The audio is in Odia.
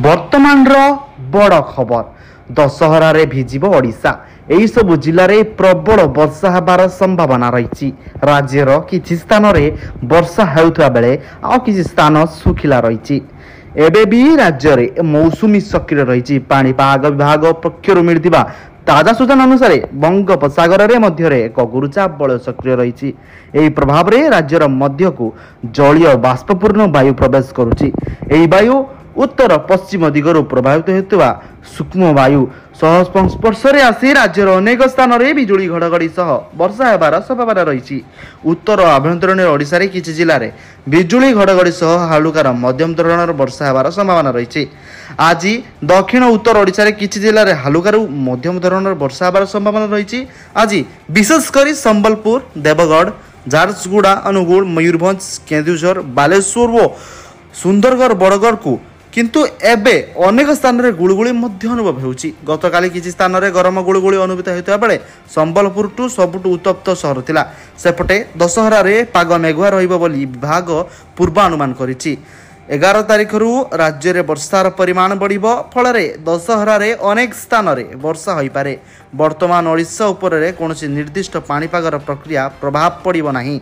ବର୍ତ୍ତମାନର ବଡ଼ ଖବର, ଦଶହରାରେ ଭିଜିବ ଓଡ଼ିଶା। ଏହିସବୁ ଜିଲ୍ଲାରେ ପ୍ରବଳ ବର୍ଷା ହେବାର ସମ୍ଭାବନା ରହିଛି। ରାଜ୍ୟର କିଛି ସ୍ଥାନରେ ବର୍ଷା ହେଉଥିବା ବେଳେ ଆଉ କିଛି ସ୍ଥାନ ଶୁଖିଲା ରହିଛି। ଏବେ ବି ରାଜ୍ୟରେ ମୌସୁମୀ ସକ୍ରିୟ ରହିଛି। ପାଣିପାଗ ବିଭାଗ ପକ୍ଷରୁ ମିଳିଥିବା ତାଜା ସୂଚନା ଅନୁସାରେ ବଙ୍ଗୋପସାଗରରେ ମଧ୍ୟରେ ଏକ ଗୁରୁଚାପ ବଳୟ ସକ୍ରିୟ ରହିଛି। ଏହି ପ୍ରଭାବରେ ରାଜ୍ୟର ମଧ୍ୟକୁ ଜଳୀୟ ବାଷ୍ପପୂର୍ଣ୍ଣ ବାୟୁ ପ୍ରବେଶ କରୁଛି। ଏହି ବାୟୁ ଉତ୍ତର ପଶ୍ଚିମ ଦିଗରୁ ପ୍ରଭାବିତ ହେଉଥିବା ସୂକ୍ଷ୍ମ ବାୟୁ ସହ ସଂସ୍ପର୍ଶରେ ଆସି ରାଜ୍ୟର ଅନେକ ସ୍ଥାନରେ ବିଜୁଳି ଘଡ଼ଘଡ଼ି ସହ ବର୍ଷା ହେବାର ସମ୍ଭାବନା ରହିଛି। ଉତ୍ତର ଆଭ୍ୟନ୍ତରୀଣ ଓଡ଼ିଶାରେ କିଛି ଜିଲ୍ଲାରେ ବିଜୁଳି ଘଡ଼ଘଡ଼ି ସହ ହାଲୁକାର ମଧ୍ୟମ ଧରଣର ବର୍ଷା ହେବାର ସମ୍ଭାବନା ରହିଛି। ଆଜି ଦକ୍ଷିଣ ଉତ୍ତର ଓଡ଼ିଶାରେ କିଛି ଜିଲ୍ଲାରେ ହାଲୁକାରୁ ମଧ୍ୟମ ଧରଣର ବର୍ଷା ହେବାର ସମ୍ଭାବନା ରହିଛି। ଆଜି ବିଶେଷ କରି ସମ୍ବଲପୁର, ଦେବଗଡ଼, ଝାରସୁଗୁଡ଼ା, ଅନୁଗୁଳ, ମୟୂରଭଞ୍ଜ, କେନ୍ଦୁଝର, ବାଲେଶ୍ୱର ଓ ସୁନ୍ଦରଗଡ଼, ବଡ଼ଗଡ଼କୁ କିନ୍ତୁ ଏବେ ଅନେକ ସ୍ଥାନରେ ଗୁଳୁଗୁଳି ମଧ୍ୟ ଅନୁଭବ ହେଉଛି। ଗତକାଲି କିଛି ସ୍ଥାନରେ ଗରମ ଗୁଳୁଗୁଳି ଅନୁଭୂତ ହେଉଥିବା ବେଳେ ସମ୍ବଲପୁରଠୁ ସବୁଠୁ ଉତ୍ତପ୍ତ ସହର ଥିଲା। ସେପଟେ ଦଶହରାରେ ପାଗ ମେଘୁଆ ରହିବ ବୋଲି ବିଭାଗ ପୂର୍ବାନୁମାନ କରିଛି। 11 ତାରିଖରୁ ରାଜ୍ୟରେ ବର୍ଷାର ପରିମାଣ ବଢ଼ିବ, ଫଳରେ ଦଶହରାରେ ଅନେକ ସ୍ଥାନରେ ବର୍ଷା ହୋଇପାରେ। ବର୍ତ୍ତମାନ ଓଡ଼ିଶା ଉପରେ କୌଣସି ନିର୍ଦ୍ଦିଷ୍ଟ ପାଣିପାଗର ପ୍ରକ୍ରିୟା ପ୍ରଭାବ ପଡ଼ିବ ନାହିଁ।